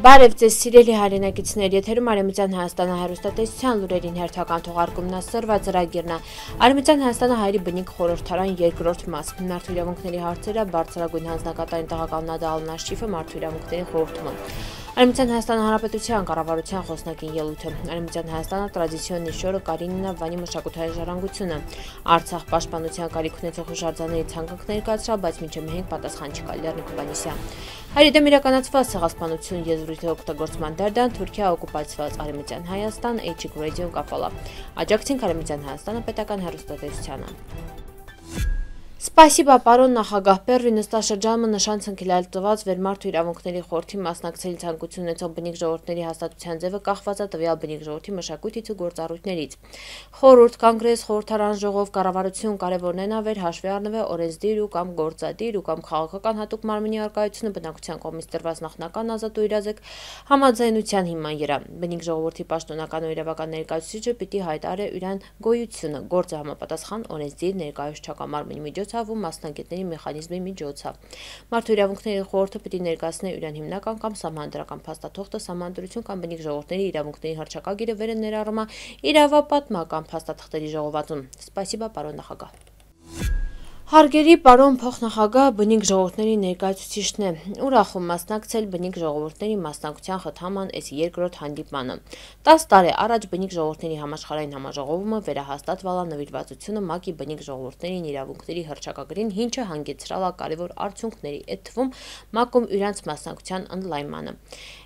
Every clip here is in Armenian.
Բարև ձեզ սիրելի հայրենակիցներ, եթերում Արևմտյան Հայաստանը հեռուստատեսության լուրերին հերթական թողարկումն սրված ծրագիրն է։ Արևմտյան Հայաստանը հայերի բնիկ խորհրդարան երկրորդ մաս։ Մարդու իրավունքների հարցերը բարձրագույն հանձնակատարին տղականոն Աշիֆը մարդու իրավունքների խորհրդում։ Արևմտյան Հայաստանի Հանրապետության կառավարության խոսնակին ելույթը։ Արևմտյան Հայաստանը տրադիցիոն նիշորը Կարինինա Վանի մշակութային ժառանգությունը։ Արցախ պաշտպանության կարիք ունեցող հուշարձանների ցանկանք ներկայացրավ, բայց մինչև մենք պատասխան չկա Լեռնիկ Հովհաննիսյան։ Հայերի դեմ իրականացված ցեղասպանություն եզրույթի օգտագործման դերդան Թուրքիա օկուպացված Արևմտյան Հայաստան Էջիկ ռադիոն կապալա։ Աջակցին Արևմտյան Հայաստանը պետական հեռուստատեսությանը։ Սպասիբա պարոն նախագահ Պերրի նստաշրջանը նշան ցնքելալ տված Վերմարթու իրավունքների խորհրդի մասնակցելի ցանկություն ունեցող բնիկ ժողովուրդների հաստատության ձևը կախված է տվյալ բնիկ ժողովրդի մշակույթից ու գործառույթներից։ Խորհուրդ, կոնգրես, խորհրդարան, ժողով, կառավարություն կարևորն են ավեր հաշվի առնվել օրենսդիր ու կամ գործադիր ու կամ քաղաքական հատուկ մարմնի արկայությունը բնակության կողմից տրված նախնական ազատ ու իրազեկ համաձայնության հիման վրա։ Բնիկ ժողովրդի պաշտոնական ու իրավական ներկայացուցիչը պիտի հայտարարի իրան գոյությունը գործը համապատասխան օրենսդիր ներկայացուցչական մարմնի միջոցով ու մասնագետների մեխանիզմի միջոցով։ Մարդու իրավունքների խորհուրդը պիտի ներկայացնի իրան հիմնական կամ սահմանադրական փաստաթուղթը, սահմանադրություն կամ բնիկ ժողովուրդների իրավունքների հռչակագիրը վեր ներառումա իրավապատմական փաստաթղթերի ժողովածուն։ Սպասիբա պարոն նախագահ։ Հարգելի պարոն փոխնախագահ, բնիկ ժողովուրդների ներկայացուցիչն է, ուրախում մասնակցել բնիկ ժողովուրդների մասնակցության խթաման այս երկրորդ հանդիպմանը։ 10 տարի առաջ բնիկ ժողովուրդների համաշխարհային համաժողովումը վերահաստատվալ է նվիրվածությունը ՄԱԿ-ի բնիկ ժողովուրդների իրավունքների հռչակագրին, ինչը հանգեցրել է կարևոր արդյունքների, այդ թվում ՄԱԿ-ում իրենց մասնակցության ընդլայնմանը։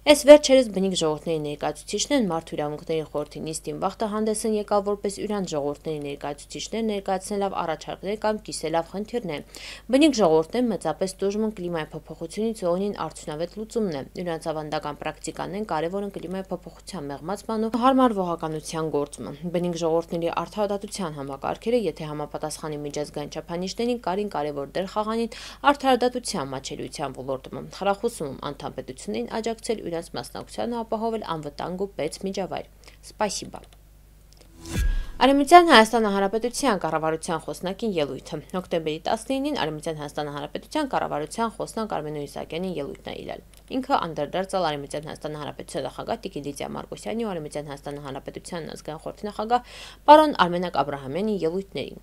Այս վերջերս բնիկ ժողովուրդների ներկայացուցիչներն Մարդու իրավունքների խորհրդի նիստին վաղտը հանդես են եկալ որպես իրենց ժողովուրդների ներկայացուցիչներ ներկայացնելով առաջարկներ կամ կիսելով խնդիրներ։ Բնիկ ժողովուրդներն մեծապես տուժում են կլիմայի փոփոխությունից ու օնին արդյունավետ լուծումն է։ Իրենց ավանդական պրակտիկաներն կարևոր են կլիմայի փոփոխության մեղմացման ու հարմարվողականության գործում։ Բնիկ ժողովուրդների արդարադատության համակարգերը, եթե համապատասխանի միջազգային չափանիշներին, կարին կարևոր դեր խաղանին արդարադատության մատչելիության ոլորտում։ Խրախուսում անդամ պետություններին աջակցել իրենց մասնակցությանը ապահովել անվտանգ ու պետ միջավայր։ Սպասիբա։ Արևմտյան Հայաստանի Հանրապետության կառավարության խոսնակին ելույթը։ Հոկտեմբերի 19-ին Արևմտյան Հայաստանի Հանրապետության կառավարության խոսնակ Արմեն Իսահակյանի ելույթն է իրել։ Ինքը անդրադարձել Արևմտյան Հայաստանի Հանրապետության նախագահ Տիկին Լիդիա Մարկոսյանի ու Արևմտյան Հայաստանի Հանրապետության ազգային խորհրդի նախագահ պարոն Արմենակ Աբրահամյանի ելույթներին։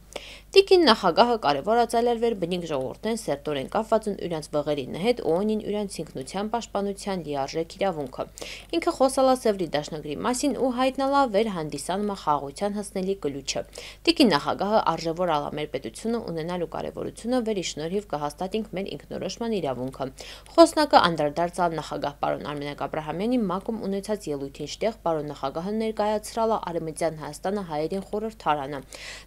Տիկին նախագահը կարևորացել էր բնիկ ժողովուրդներն սերտորեն կապված են իրենց վղերի հետ ու օնին իրենց ինքնության պաշտպանության լիարժեք իրավունքը։ Ինքը խոսալ է Սևրի դաշնագրի մասին ու հայտնալա վեր հանդիսանում խաղաղության հասնելի կլուչը։ Տիկին նախագահը արժևորալ է մեր պետությունը ունենալու կարևորությունը, վերի շնորհիվ կհաստատենք մեր ինքնորոշման իրավունքը։ Խոսնակը անդրադարձավ նախագահ պարոն Արմենակ Աբրահամյանի ՄԱԿ-ում ունեցած ելույթին, շտեղ պարոն նախագահը ներկայացրալ է Արևմտյան Հայաստանը հայերին խորհրդարանը։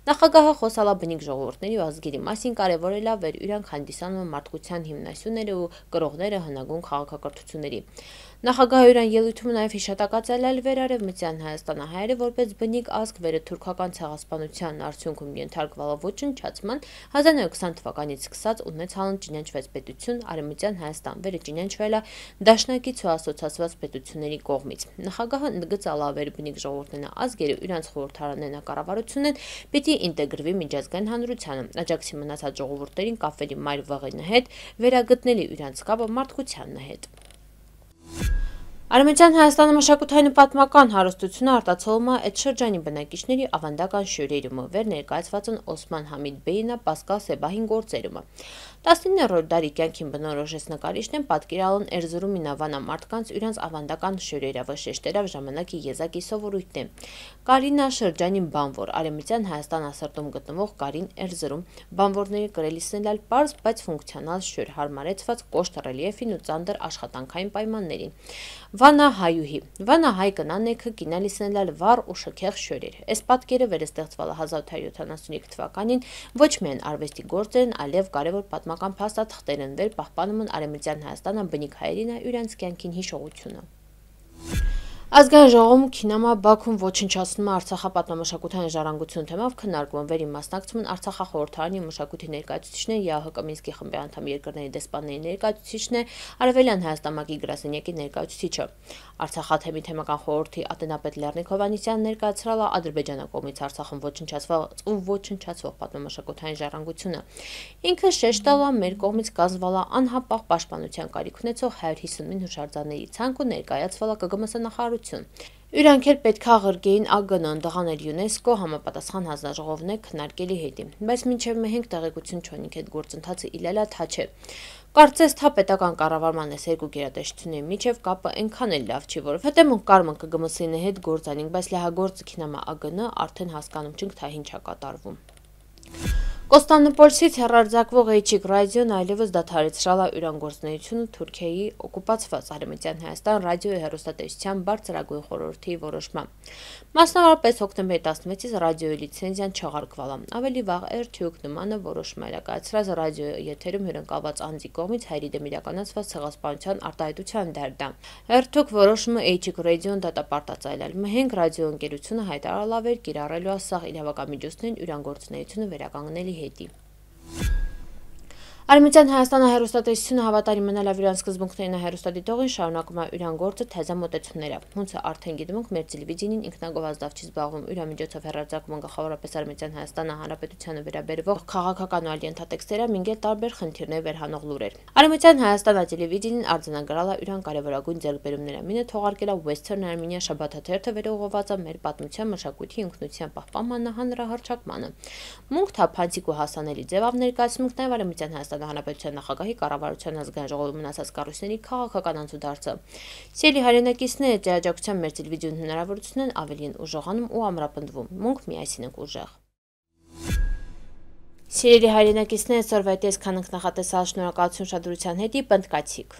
Նախագահը խոսալ է բնիկ ժողովուրդների ու ազգերի մասին, կարևորել է վեր իրանք հանդիսանում մարդկության հիմնասյուները ու կրողները հնագույն քաղաքակրթությունների։ Նախագահը իրան ելույթում նաև հիշատակացել է Վերարևմտյան Հայաստանը հայերը որպես բնիկ ազգ վերը թուրքական ցեղասպանության արդյունքում ենթարկվալը ոչնչացման 1920 թվականից սկսած ունեցալն ճանաչվեց պետություն Արևմտյան Հայաստան, վերը ճանաչվել է դաշնակից ու ասոցացված պետությունների կողմից։ Նախագահը ընդգծալ է վեր բնիկ ժողովուրդներն ազգերը իրենց խորհրդարաններն կառավարությունն պիտի ինտեգրվի միջազգային հանրությանը, աջակցի մնացած ժողովուրդներին կապվելի մայր վղին հետ, վերագտնելի իրենց կապը մարդկության հետ։ Արևմտյան Հայաստանի մշակութային պատմական հարստությունը արտացոլում է այդ շրջանի բնակիչների ավանդական շյուրերումը, վեր ներկայացված են Օսման Համիդ Բեյնա Պասկալ Սեբահին գործերումը։ 19-րդ դարի կյանքին բնորոշ նկարիչներն պատկերալն Էրզրումի նավանա մարդկանց իրենց ավանդական շյուրերով, շեշտերով ժամանակի եզակի սովորույթն է։ Կարինա շրջանի բանվոր Արևմտյան Հայաստան ասրտում գտնվող Կարին Էրզրում բանվորների կրելիսնել այլ պարզ, բայց ֆունկցիոնալ շյուր հարմարեցված կոշտ ռելիեֆին ու ծանր աշխատանքային պայմաններին։ Վանահայուհի Վանահայ կնանեքը կինալիսնել վառ ու շքեղ շյուրեր։ Այս պատկերը վերստեղծվել է 1875 թվականին ոչ միայն արվեստի գործեր են, այլև կարևոր պատմական փաստաթղթեր են վեր պահպանում են Արևմտյան Հայաստանը բնիկ հայերին իրենց կյանքին հիշողությունը։ Ազգային ժողովում Քինամա Բաքուն ոչնչացնում է Արցախապատմամշակութային ժառանգություն թեմով քննարկվում վերին մասնակցում են Արցախախորհրդարանի մշակույթի ներկայացուցիչն է, ԵԱՀԿ Մինսկի խմբի անդամ երկրների դեսպանների ներկայացուցիչն է, Արևելյան Հայաստան գրասենյակի ներկայացուցիչը։ Արցախաթեմի թեմական խորհրդի ատենապետ Լեռնիկ Հովհաննիսյանն ներկայացրել է Ադրբեջանի կողմից Արցախում ոչնչացվող պատմամշակութային ժառանգությունը։ Ինքը շեշտ տալ է մեր կողմից կազմվել է անհապաղ պաշտպանության կարիք ունեցող 159 հուշարձանների ցանկ ու ներկայացվել է ԿԳՄՍ նախարարություն։ Իրանք էլ պետք է աղրկեին ԱԳՆ, ընդդղանել ՅՈՒՆԵՍԿՕ համապատասխան հանձնաժողովն է քննարկելի հետի, բայց մինչև մենք տեղեկություն չունենք այդ գործընթացը իլելա թա չէ։ Կարծես թա պետական կառավարման այս երկու գերատեսչությունների միջև կապը այնքան էլ լավ չի, որովհետև մենք կարում ենք ԿԳՄՍ-ի հետ գործանենք, բայց լիահագործ Քինամա ԱԳՆ արդեն հասկանում չենք, թե ինչ է կատարվում։ Կոստանդնուպոլսից հեռարձակվող Էյչիկ ռադիոն այլևս դադարեցրել է իրանգործունեությունը Թուրքիայի օկուպացված Արևմտյան Հայաստան ռադիոյի հեռուստատեսության բարձրագույն խորհրդի որոշմամբ։ Մասնավորապես հոկտեմբերի 16-ից ռադիոյի լիցենզիան չեղարկվել է։ Ավելի վաղ RTÜK նմանը որոշում է կայացրած ռադիոյի եթերում հյուրընկալված անձի կողմից հայերի դեմ իրականացված ցեղասպանության արտահայտության դերդա։ RTÜK որոշումը Էյչիկ ռադիոն դատապարտած այլել։ Մենք ռադիոընկերությունը հայտարարել էր կիրառելու ասաղ իրավական միջոցներին իրանգործունեությունը վերականգնելի հետի։ Արևմտյան Հայաստանը հեռուստատեսությունը հավատարիմ մնալով իրան սկզբունքներին հեռուստադիտողին շարունակում է իրանգործը թեզամոտեցումները։ Հունցը արդեն գիտում ենք մեր տելևիզիոնին ինքնագովազդով չի զբաղվում, իրամիջոցով հեռարձակում են գլխավորապես Արևմտյան Հայաստանը Հանրապետությանը վերաբերվող քաղաքական ու այլ ենթատեքստերը, մինչև տարբեր խնդիրներ վերհանող լուրեր։ Արևմտյան Հայաստանը տելևիզիոնին արձանագրել է իրան կարևորագույն ձեռքբերումները։ Մինը թողարկել է Western Armenia շաբաթաթերթը վերողոված է մեր պատմության, մշակույթի, ինքնության պահպանմանը, հանրահռչակմանը։ Մունք թափանցիկ ու հասանելի ձևով ներկայացնում ենք նաև Արևմտյան Հայաստանի Հանրապետության նախագահի կառավարության ազգային ժողովում մնացած կառույցների քաղաքական անցուդարձը։ Սիրելի հայրենակիցները, աջակցության մեր տելևիզիոն հնարավորությունն ավելի են ուժեղանում ու ամրապնդվում։ Մունք միասին ենք ուժեղ։ Սիրելի հայրենակիցները, այսօրվա այս քանենք նախատեսալ, շնորհակալություն ուշադրության հետի, պնդկացիք։